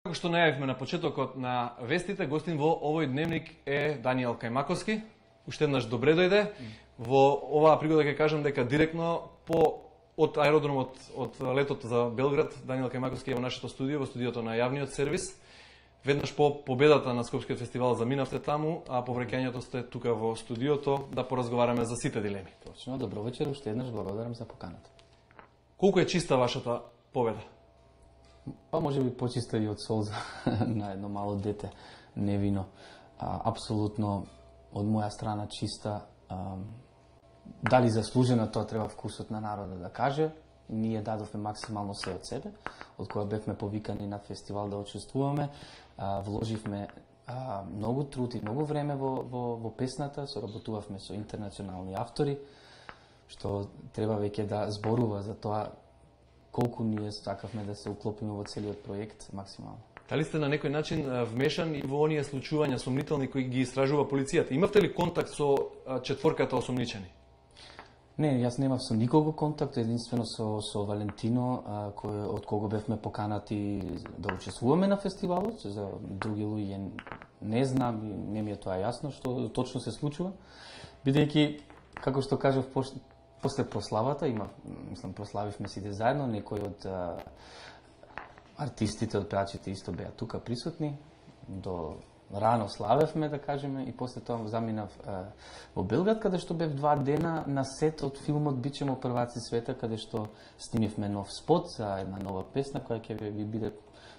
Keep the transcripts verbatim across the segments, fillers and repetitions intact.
Како што најавивме на почетокот на вестите, гостин во овој дневник е Даниел Кајмаковски. Уште еднаш добре дојде. Во оваа пригода ќе кажам дека директно по од аеродромот од летот за Белград, Даниел Кајмаковски е во нашето студио, во студиото на јавниот сервис. Веднаш по победата на Скопскиот фестивал заминавте таму, а по враќањето сте тука во студиото да поразговараме за сите дилеми. Точно, добро вечер, уште еднаш благодарам за поканата. Колку е чиста вашата победа? Па може би почиста и од солза на едно мало дете, невино. А, апсолутно од моја страна чиста. А, дали заслужена, тоа треба вкусот на народа да каже. Ние дадовме максимално се од себе, од кога бевме повикани на фестивал да учествуваме. А, вложивме а, многу труд и многу време во, во, во песната, соработувавме со интернационални автори, што треба веќе да зборува за тоа колку ние сакавме да се уклопиме во целиот проект максимално. Дали сте на некој начин вмешан и во оние случувања сомнителни кои ги истражува полицијата? Имавте ли контакт со четворката осомничени? Не, јас немав со никого контакт, единствено со, со Валентино, а, кој, од кого бевме поканати да учествуваме на фестивалот. За други луѓе не знам, не ми е тоа јасно што точно се случува. Бидејќи, како што кажав, после прославата, има, мислам, прославивме сите заедно, некои од а, артистите, од пеачите исто беа тука присутни, до рано славевме, да кажеме, и после тоа заминав а, во Белград, каде што бев два дена на сет од филмот Бичемо прваци света, каде што снимивме нов спот за една нова песна, која ќе ви биде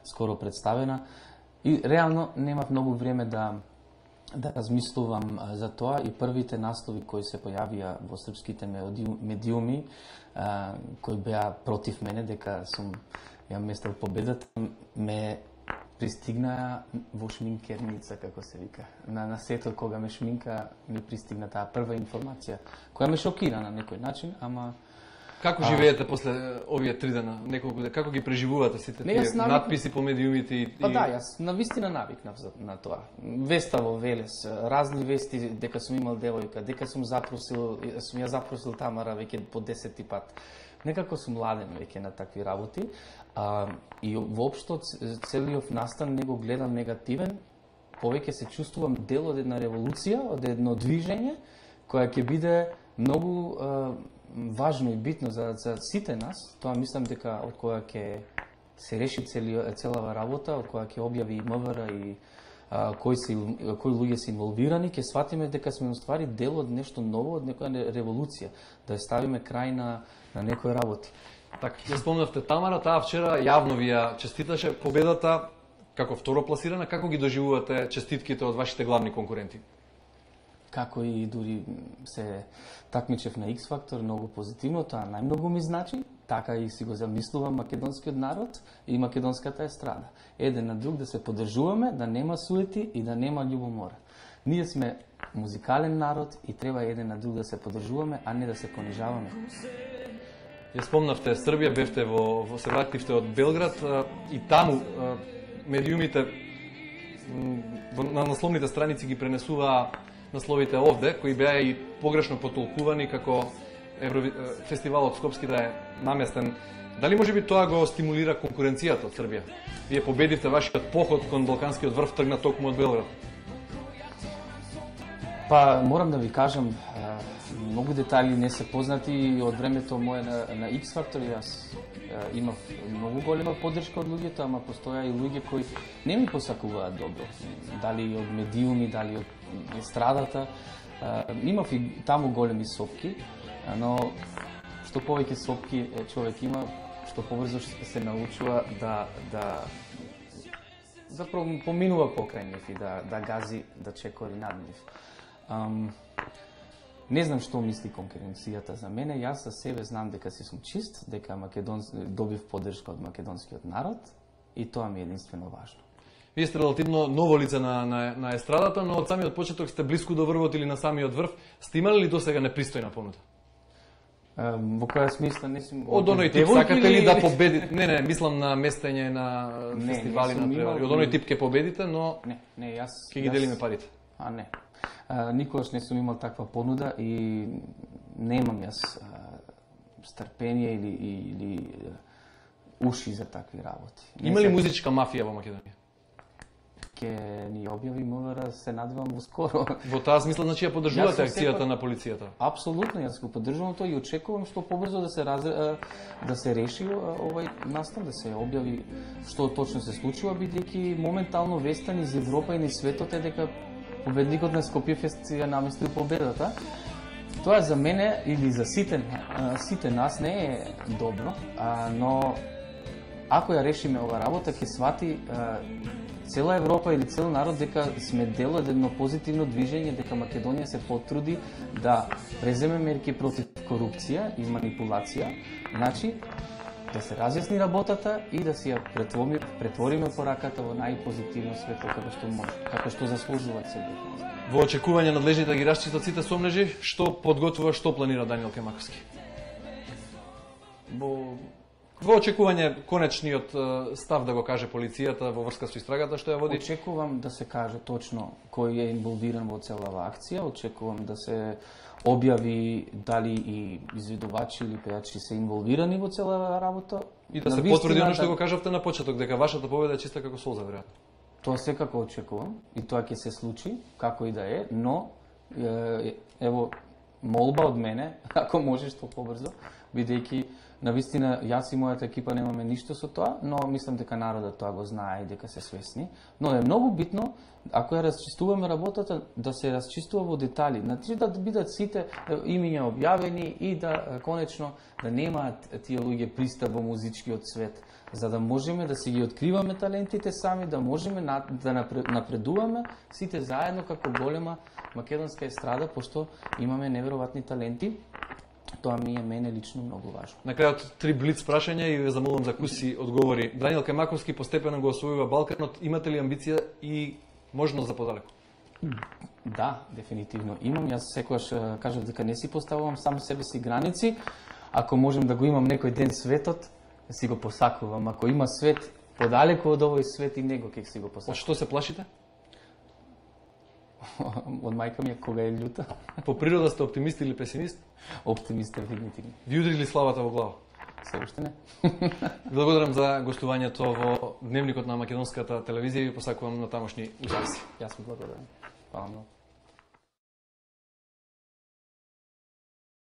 скоро представена. И реално немав многу време да да размислувам за тоа, и првите наслови кои се појавија во српските медиуми, а, кои беа против мене, дека сум ја местел победата, ме пристигна во шминкерница, како се вика. На, на сетот кога ме шминка, ми пристигна таа прва информација, која ме шокира на некој начин, ама... Како живеете а... после овие три дена, неколку дена? Како ги преживувате сите тие навик... надписи по медиумите и... Па да, јас навистина навикнав на тоа. Веста во Велес, разни вести дека сум имал девојка, дека сум запросил, сум ја запросил Тамара веќе по десети пат. Некако сум ладен веќе на такви работи. А, и воопшто целиот настан не го гледам негативен, повеќе се чувствувам дел од една револуција, од едно движење, која ќе биде многу а, важно и битно за, за сите нас. Тоа мислам дека од која ќе се реши цели, целава работа, од која ќе објави и МВР и а, кои, се, кои луѓе се инволвирани, ќе сватиме дека сме уствари дел од нешто ново, од некоја револуција, да ја ставиме крај на, на некои работи. Така, ја спомнавте Тамара, таа вчера јавно ви ја честиташе победата како второ пласирана. Како ги доживувате честитките од вашите главни конкуренти? Како и дури се такмичев на X Factor, многу позитивно, тоа најмногу ми значи, така и си го замислувам македонскиот народ и македонската естрада. Еден на друг да се поддржуваме, да нема суети и да нема љубомора. Ние сме музикален народ и треба еден на друг да се поддржуваме, а не да се понижаваме. Ја спомнавте Србија, бевте во, во се вративте од Белград и таму медиумите на насловните страници ги пренесуваа насловите овде, кои беа и погрешно потолкувани како Еврови... фестивалот Скопски да е наместен. Дали може би тоа го стимулира конкуренцијата од Србија? Вие победивте, вашиот поход кон Балканскиот врв тргна токму од Белград. Па, морам да ви кажам, многу детали не се познати од времето мое на, на X Factor. Јас имав многу голема поддршка од луѓето, ама постоја и луѓе кои не ми посакуваат добро. Дали од медиуми, дали од естрадата. Имав и таму големи сопки, но што повеќе сопки човек има, што побрзо се научува да да заpravo поминува покрај нив и да да гази, да чекори над нив. Um, не знам што мисли конкуренцијата за мене, јас за себе знам дека си сум чист, дека Македон... добив поддршка од македонскиот народ и тоа ми е единствено важно. Вие сте релативно ново лице на, на, на естрадата, но од самиот почеток сте блиску до врвот или на самиот врв. Сте имали ли досега непристојна понуда? Um, во која смисла не сум... Од оној тип, сакате ли да победите? Не, не, мислам на местење на не, фестивали на превари. Од оној тип ќе победите, но не, не, јас ќе ги јас... делиме парите. А не. А, никогаш не сум имал таква понуда и немам јас а, стрпение или или уши за такви работи. Има ли музичка мафија во Македонија? Ке ни објави МВР, се надевам во скоро. Во таа смисла, значи ја поддржувате акцијата на полицијата? Апсолутно, јас го поддржувам тоа и очекувам што побрзо да се раз... да се реши овај настан, да се објави што точно се случува, бидејќи моментално вестта низ Европа и низ светот е дека победникот на Скопје фест ја наместил победата. Тоа за мене или за сите сите нас не е добро, но ако ја решиме ова работа, ќе свати цела Европа или цел народ дека сме дел од едно позитивно движење, дека Македонија се потруди да преземе мерки против корупција и манипулација, значи да се разјасни работата и да си ја претвориме, претвориме пораката во најпозитивно светло како што може, како што заслужуваат себе. Во очекување надлежните да ги расчистат сите сомнежи, што подготвува, што планира Даниел Кемаковски? Во Во очекување конечниот став да го каже полицијата во врска со истрагата што ја води? Очекувам да се каже точно кој е инволвиран во целава акција, очекувам да се објави дали и изведувачи или пејачи се инволвирани во целава работа. И да се потврди оно што го кажавте на почеток, дека вашата победа е чиста како солза, веројатно. Тоа секако очекувам и тоа ќе се случи, како и да е, но ево молба од мене, ако може што побрзо, бидејќи навистина јас и мојата екипа немаме ништо со тоа, но мислам дека народот тоа го знае и дека се свесни. Но е многу битно, ако ја расчистуваме работата, да се расчистува во детали. Значи да бидат сите имиња објавени и да конечно да немаат тие луѓе пристап во музичкиот свет, за да можеме да си ги откриваме талентите сами, да можеме да напредуваме сите заедно како голема македонска естрада, пошто имаме неверојатни таленти. Тоа ми е мене лично многу важно. На крајот три блиц прашања и ве замолувам за куси одговори. Даниел Кемаковски постепено го освојува Балканот. Имате ли амбиција и можност за подалеку? Да, дефинитивно имам. Јас секогаш кажав дека не си поставувам сам себе си граници. Ако можем да го имам некој ден светот, си го посакувам. Ако има свет подалеку од овој свет, и него ќе си го посакувам. Од што се плашите? Од мајка ми е кога е љута. По природа сте оптимист или песимист? Оптимист, дефинитивно. Ви удри ли славата во глава? Се уште не. Благодарам за гостувањето во Дневникот на македонската телевизија и ви посакувам на тамошни успеси. Јас ви благодарам. Хвала многу.